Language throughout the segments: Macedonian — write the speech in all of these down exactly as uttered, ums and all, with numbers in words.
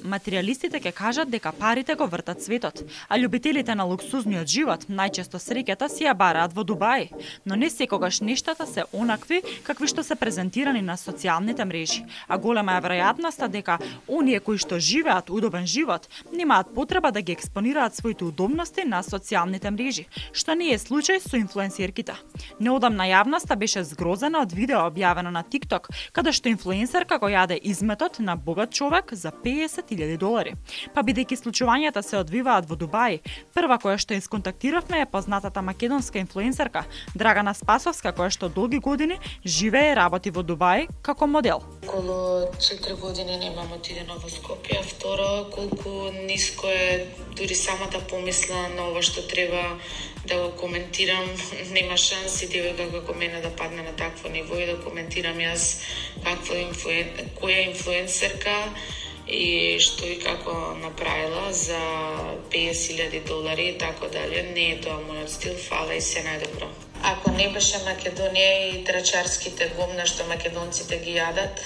Материјалистите ќе кажат дека парите го вртат светот, а љубителите на луксузниот живот најчесто среќата си ја бараат во Дубај, но не секогаш нештата се онакви какви што се презентирани на социјалните мрежи, а голема е веројатноста дека оние кои што живеат удобен живот немаат потреба да ги експонираат своите удобности на социјалните мрежи, што не е случај со инфлуенсерките. Неодамна јавноста беше згрозена од видео објавено на TikTok, каде што инфлуенсерка го јаде изметот на богат човек за песет илјади долари. Па бидејќи случувањата се одвиваат во Дубај, прва која што исконтактиравме е познатата македонска инфлуенсерка Драгана Спасовска, која што долги години живее и работи во Дубај како модел. Околу четири години немам отидено во Скопје, второ колку ниско е дури самата помисла на ова што треба да го коментирам, нема шанси девојка како мене да падне на такво ниво и да коментирам јас каква инфлуен... која инфлуенсерка и што и како направила за песет илјади долари и така дале. Не е тоа мојот стил, фала и се најдобро. Ако не беше Македонија и трачарските гомна што македонците ги јадат,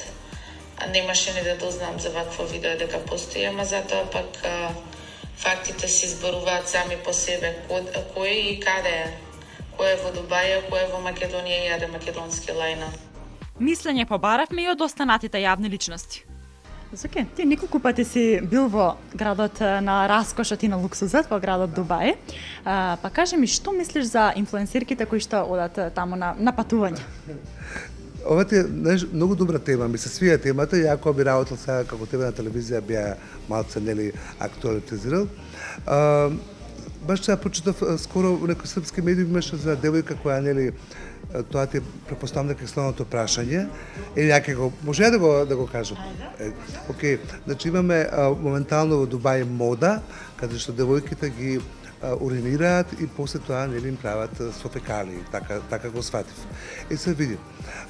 немаше ни да дознам за вакво видео дека постои, ама затоа пак фактите се изборуваат сами по себе. Кој и каде е? Кој е во Дубај, кој е во Македонија и јаде македонски лајна? Мислење побаравме и од останатите јавни личности. Зоке, ти неколку пати си бил во градот на раскошот и на луксузот, во градот Дубај. А, па кажи ми, што мислиш за инфлуенсерките кои што одат таму на, на патување? Ова ти е многу добра тема, ми се свија темата, ја кога би работел сега како тебе на телевизија би ја малце нели актуализирал. А, баш сега прочитав скоро во некој српски медиум имаше за девојка која нели тоа ти претпоставам дека е следното прашање или някај го може да го да го кажам. Океј, значи имаме а, моментално во Дубај мода каде што девојките ги а, уринираат и после тоа нели им прават со фекалии, така така го сватив. И се види.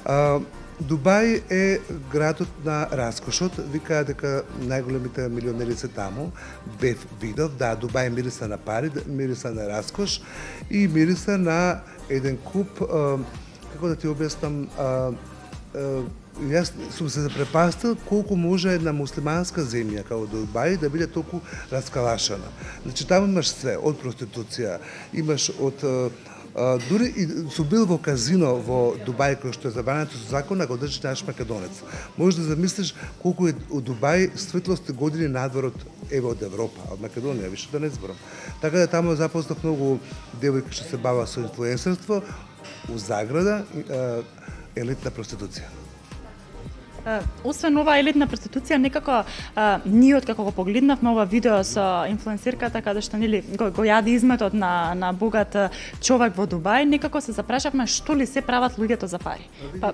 А, Дубај е градот на раскошот, викаат дека најголемите милионери се таму. Бев видов, да, Дубај мириса на пари, мириса на раскош и мириса на еден куп, а, како да ти објаснам, а, а, јас сум се запрепастил колку може една муслиманска земја како Дубај да биде толку раскалашена. Значи таму имаш све, од проституција, имаш од Uh, дури и сум бил во казино во Дубај кој што е забрането со закон, а го држи наш македонец. Може да замислиш колку е од Дубај светлост години надвор од еве од Европа, од Македонија, више да не зборам. Така да таму запознав многу девојки што се бава со инфлуенсерство, у заграда uh, елитна проституција. Освен ова елитна проституција, некако а, ние откако го погледнавме ова видео со инфлуенсерката каде што нели го, го јади изметот на на богат човек во Дубај, некако се запрашавме што ли се прават луѓето за пари. Па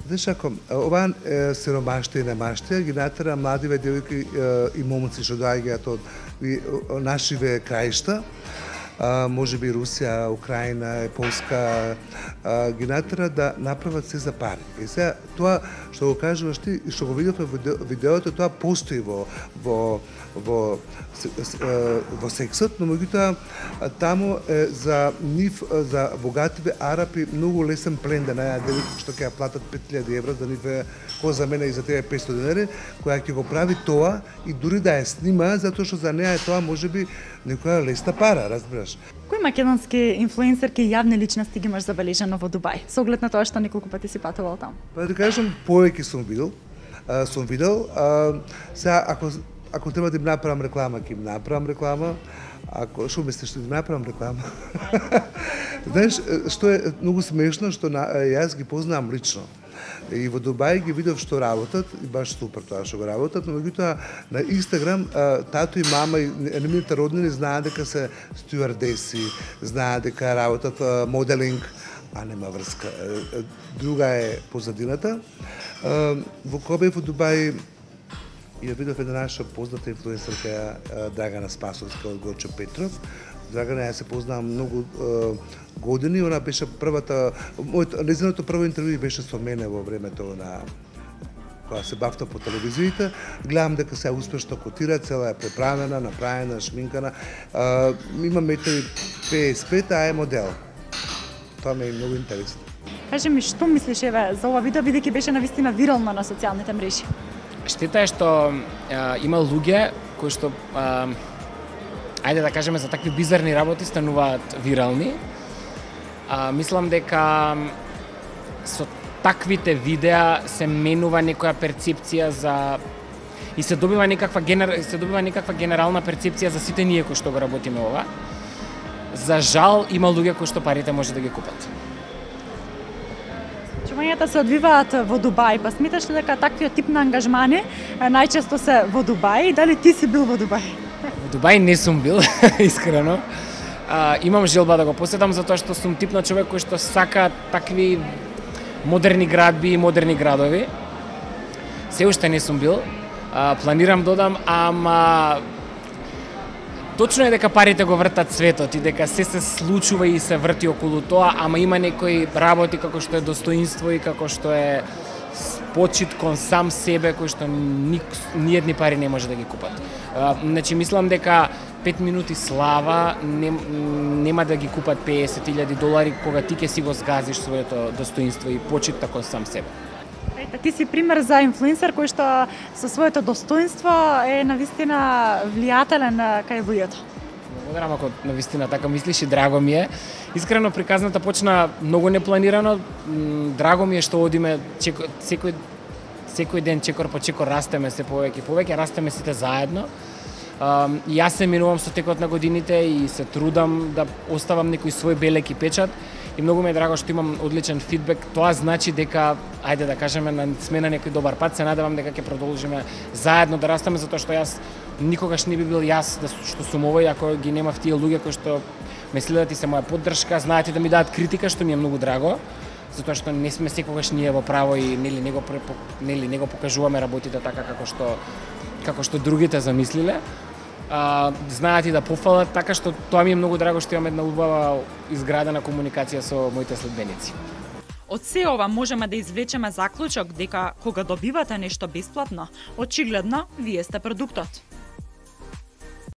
знаеш ако ова е, сиромаштија и немаштија ги натера младиве девојки и момци што доаѓаат од нашиве краишта, Uh, може би Русија, Украина, Полска, uh, ги натера да направат се за пари. И сега тоа што го кажуваш ти и што го видовме во видеото, тоа постои во во во во сексот, но меѓутоа таму е за нив за богативе арапи многу лесен плен да најдат девојка што ќе ја платат пет илјади евра, за нив е кој за мене и за тебе петстотини денари, која ќе го прави тоа и дури да ја снима, затоа што за неа е тоа можеби некоја лесна пара, разбираш. Кои македонски инфлуенсерки и јавни личности ги имаш забележано во Дубај? Со оглед на тоа што неколку пати си патувал таму. Па да кажам, повеќе сум видел, а, сум видел. А, сега ако ако треба да им направам реклама, ќе им направам реклама. Ако што мислиш да им направам реклама? Знаеш што е многу смешно што на, јас ги познавам лично. И во Дубај ги видов што работат и баш супер тоа што го работат, но меѓутоа на Инстаграм тато и мама и нивните роднини знаат дека се стюардеси, знаат дека работат моделинг, а нема врска. Друга е позадината. Во Кобе во Дубај ја видов една наша позната инфлуенсерка Драгана Спасовска од Гочо Петров. Драгана ја се познавам многу е, години, она беше првата, мојот незиното прво интервју беше со мене во времето на кога се бавта по телевизиите. Гледам дека се успешно котира, цела е преправена, направена, шминкана. Е, има метри петдесет и пет, а е модел. Тоа ме е многу интересно. Кажи ми, што мислиш еве за ова видео, бидејќи беше навистина вирално на социјалните мрежи? Штета е што а, има луѓе кои што а, ајде да кажеме за такви бизарни работи стануваат вирални. А, мислам дека со таквите видеа се менува некоја перцепција за и се добива некаква генер... се добива некаква генерална перцепција за сите ние кои што го работиме ова. За жал има луѓе кои што парите може да ги купат. Случувањата се одвиваат во Дубај, па сметаш ли дека таквиот тип на ангажмани најчесто се во Дубај? Дали ти си бил во Дубај? Во Дубај не сум бил, искрено. А, имам желба да го посетам затоа што сум тип на човек кој што сака такви модерни градби и модерни градови. Се уште не сум бил. А, планирам додам, ама точно е дека парите го вртат светот и дека се се случува и се врти околу тоа, ама има некои работи како што е достоинство и како што е почит кон сам себе кој што ни, ниедни пари не може да ги купат. А, значи мислам дека пет минути слава не, нема да ги купат песет илјади долари кога ти ќе си го згазиш своето достоинство и почит кон сам себе. Ете, ти си пример за инфлуенсер кој што со своето достоинство е навистина влијателен кај луѓето. Благодарам ако навистина така мислиш и драго ми е. Искрено приказната почна многу непланирано. Драго ми е што одиме чеко, секој секој ден чекор по чекор растеме се повеќе и повеќе, растеме сите заедно. Um, јас се минувам со текот на годините и се трудам да оставам некој свој белек и печат и многу ми е драго што имам одличен фидбек. Тоа значи дека, ајде да кажеме, сме на некој добар пат. Се надевам дека ќе продолжиме заедно да растеме, затоа што јас никогаш не би бил јас да, што сум овој ако ги немав тие луѓе кои што ме следат и се моја поддршка, знаат и да ми дадат критика, што ми е многу драго, затоа што не сме секогаш ние во право и нели него нели него покажуваме работите така како што како што другите замислиле. А, знаат и да пофалат, така што тоа ми е многу драго што имам една убава изградена комуникација со моите следбеници. Од се ова можеме да извлечеме заклучок дека кога добивате нешто бесплатно, очигледно вие сте продуктот.